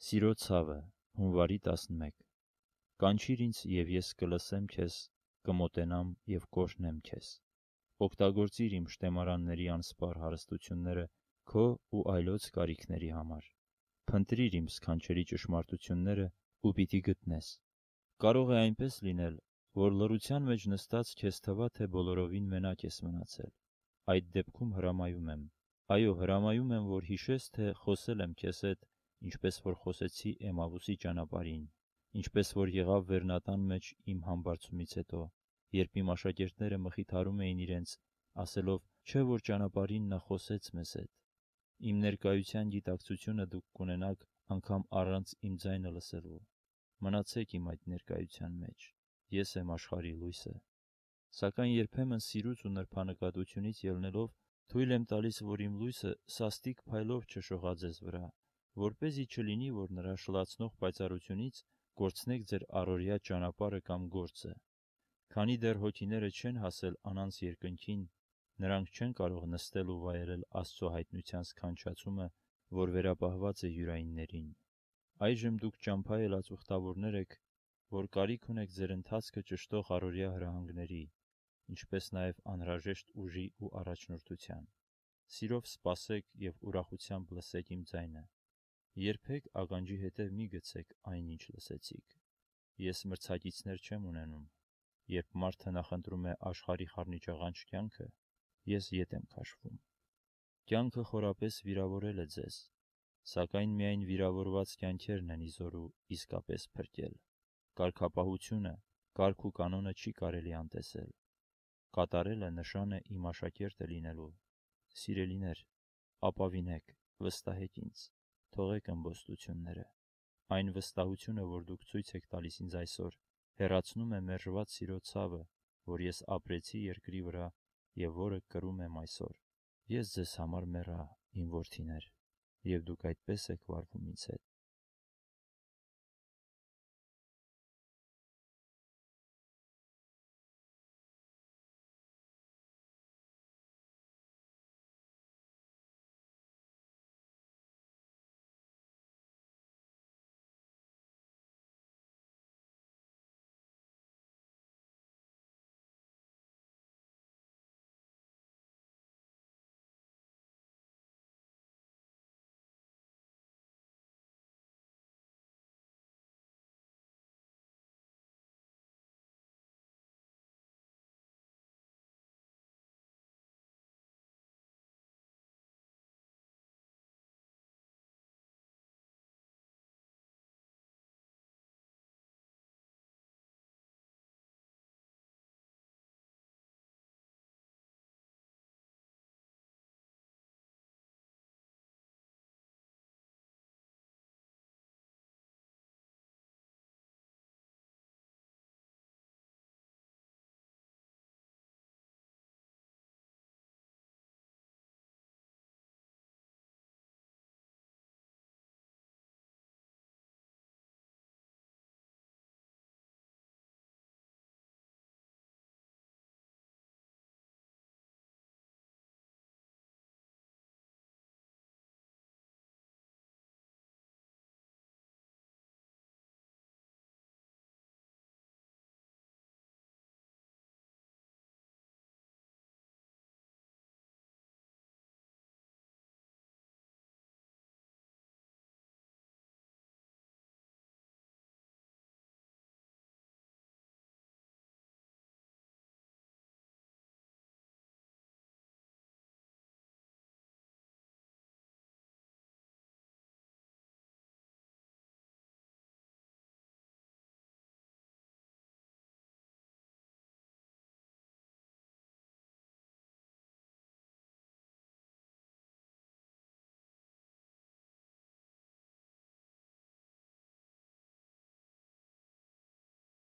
Սիրո ցավը, հունվարի 11 Կանչիր ինձ, և ես կլսեմ քեզ, կմոտենամ և կօրհնեմ քեզ։ Օգտագործիր իմ շտեմարանների անսպառ հարստությունները քո ու այլոց կարիքների համար։ Փնտրիր իմ սքանչելի ճշմարտությունները ու պիտի գտնես։ Կարող է այնպես լինել, որ լռության մեջ նստած քեզ թվա, թե բոլորովին մենակ ես մնացել։ Այդ դեպքում հրամայում եմ, այո, հրամայում եմ, որ հիշես, թե խոսել եմ քեզ հետ, ինչպես որ խոսեցի Էմավուսի ճանապարհին, ինչպես որ եղավ Վերնատան մեջ իմ համբարձումից հետո, երբ իմ աշակերտները մխիթարում էին իրենց, ասելով, չէ՞ որ ճանապարհին նա խոսեց մեզ հետ։ Իմ ներկայության գիտակցությունը դուք կունենաք անգամ առանց իմ ձայնը լսելու։ Մնացեք իմ այդ ներկայության մեջ։ Ես եմ աշխարհի լույսը։ Սակայն երբեմն սիրուց ու նրբանկատությունից ելնելով թույլ եմ տալիս, որ իմ լույսը սաստիկ փայլով չշողա ձեզ վրա, որպեսզի չլինի, որ նրա շլացնող պայծառությունից կորցնեք ձեր առօրյա ճանապարհը կամ գործը։ Քանի դեռ հոգիները չեն հասել անանց երկնքին, նրանք չեն կարող նստել ու վայելել Աստծո հայտնության սքանչացումը, որ վերապահված է յուրայիններին։ Այժմ դուք ճամփա ելած ուխտավորներ եք, որ կարիք ունեք ձեր ընթացքը ճշտող առօրյա հրահանգների, ինչպես նաև անհրաժեշտ ուժի ու առաջնորդության։ Սիրով սպասեք և ուրախությամբ լսեք իմ ձայնը։ Երբեք ականջի հետև մի գցեք այն, ինչ լսեցիք։ Ես մրցակիցներ չեմ ունենում։ Երբ մարդը նախընտրում է աշխարհի խառնիճաղանճ կյանքը, ես ետ եմ քաշվում։ Կյանքը խորապես վիրավորել է ձեզ, սակայն միայն վիրավորված կյանքերն են իզորու իսկապես փրկել։ Կարգապահությունը, կարգ ու կանոնը չի կարելի անտեսել։ Կատարելը նշան է իմ աշակերտը լինելու։ Սիրելիներ, ապավինեք, վստահեք ինձ, թողեք ըմբոստությունները։ Այն վստահությունը, որ դուք ցույց եք տալիս ինձ այսօր, հեռացնում է մերժված սիրո ցավը, որ ես ապրեցի երկրի վրա և որը կրում եմ այսօր։ Ես ձեզ համար մեռա, իմ որդիներ, և դուք այդպես եք վարվում ինձ հետ։